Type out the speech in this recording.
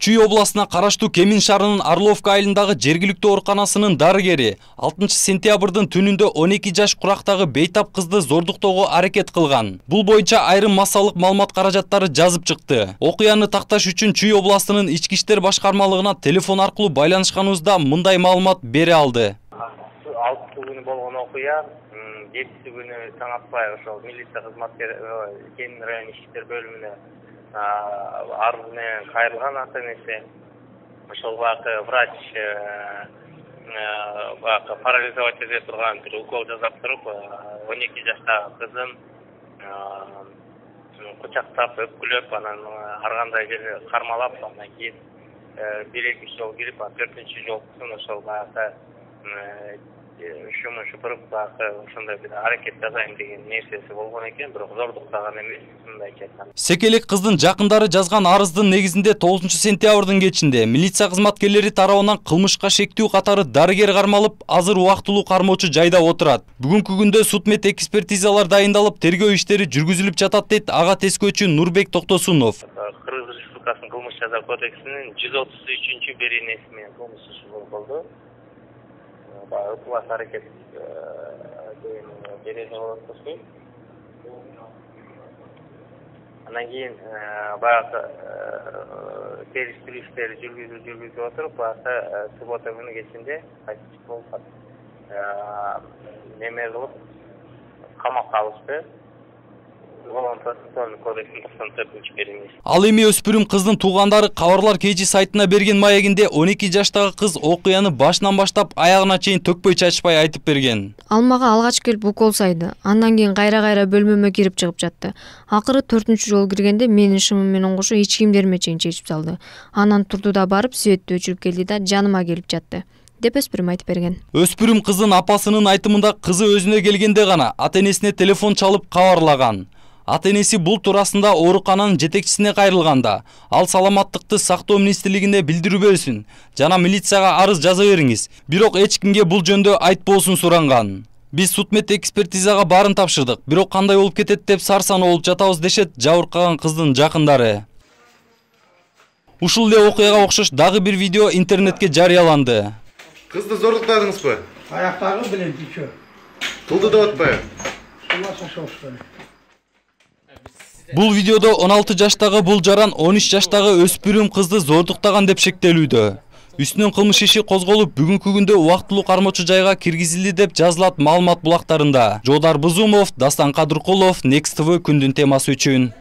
Чүй областына караштуу Кемин шаарынын Орловка айылындагы жергиликтүү ооруканасынын дарыгери 6 сентябрдын түнүндө 12 жаш курактагы бейтап кызды зордуктоого аракет кылган. Бул боюнча айрым массалык маалымат каражаттары жазып чыкты. Окуяны такташ үчүн Чүй областынын ички иштер башкармалыгына телефон аркылуу байланышканыбызда мындай маалымат бере алды. 6 күнү болгон окуя 7 күнү таң атпай ошол милиция кызматкери Кемин район ички иштер бөлүмүнө арыз менен кайрылган ата-энеси. Ошол багы врач парализовать эте турган бир укол жасап туруп 12 жаштагы кызын кучактап, өпкүлөп, анан ар кандай жерде кармалап, андан кийин 1-2 жол кирип, 4-чү жолкусун ошол багы шумун шупуруп ошондой бир аракет жасайм деген нерсеси болгон экен, бирок зордуктаган эмес, мындайча айтканда. Секелек кыздын жакындары жазган арыздын негизинде 9 сентябрдын кечинде милиция кызматкерлери тарабынан кылмышка шектүү катары дарыгер кармалып, азыр убактылуу кармоочу жайда отурат. Бүгүнкү күндө судмед экспертизалар дайындалып, тергөө иштери жүргүзүлүп жатат дейт ага тескөөчү Нурбек Токтосунов. Кыргыз Республикасынын кылмыш жаза кодексинин 133-беренеси менен кылмыш иши болду. Ыплас аракет деген берени болот. Андан кийин баягы териштирүү иштери жүргүзүп отуруп, баягы суббота күнү кечинде кайтып болуп неме кылып камакка алышты. Ал эми өспүрүм кыздын туугандары Кабарлар KG сайтына берген маегинде 12 жаштагы кыз окуяны башынан баштап аягына чейин төкпөй чачпай айтып берген. Ал мага алгач келип укол сайды. Андан кийин кайра бөлмөмө кирип чыгып жатты. Акыры 4-чү жолу киргенде менин шымым менен кошо эч кийимдериме чейин чечип салды. Анан турду да барып светти өчүрүп келди да жаныма келип жатты деп өспүрүм айтып берген. Өспүрүм кыздын апасынын айтымында кызы өзүнө келгенде гана ата-энесине телефон чалып кабарлаган. Ата-энеси бул туурасында оорукананын жетекчисине кайрылганда, ал саламаттыкты сактоо министрлигине билдирүүбөсүн жана милицияга арыз жаза бериңиз. Бирок эч кимге бул жөндө айтпоосун суранган. Биз судмед экспертизага баарын тапшырдык, бирок кандай болуп кетет деп сарсан болуп жатабыз дешет жабыркаган кыздын жакындары. Ушул эле окуяга окшош дагы бир видео интернетке жарыяланды. Кызды зордуктадыңызбы? Аяктагы билем тичө. Кылды деп атпайбы? Бул видеодо 16 жаштагы бул жаран 13 жаштагы өспүрүм кызды зордуктаган деп шектелүүдө. Үстүнөн кылмыш иши козголуп, бүгүнкү күндө убактылуу кармоочу жайга киргизилди деп жазылат маалымат булактарында. Жоодар Бузумов, Дастан Кадыркулов, Next TV күндүн темасы үчүн.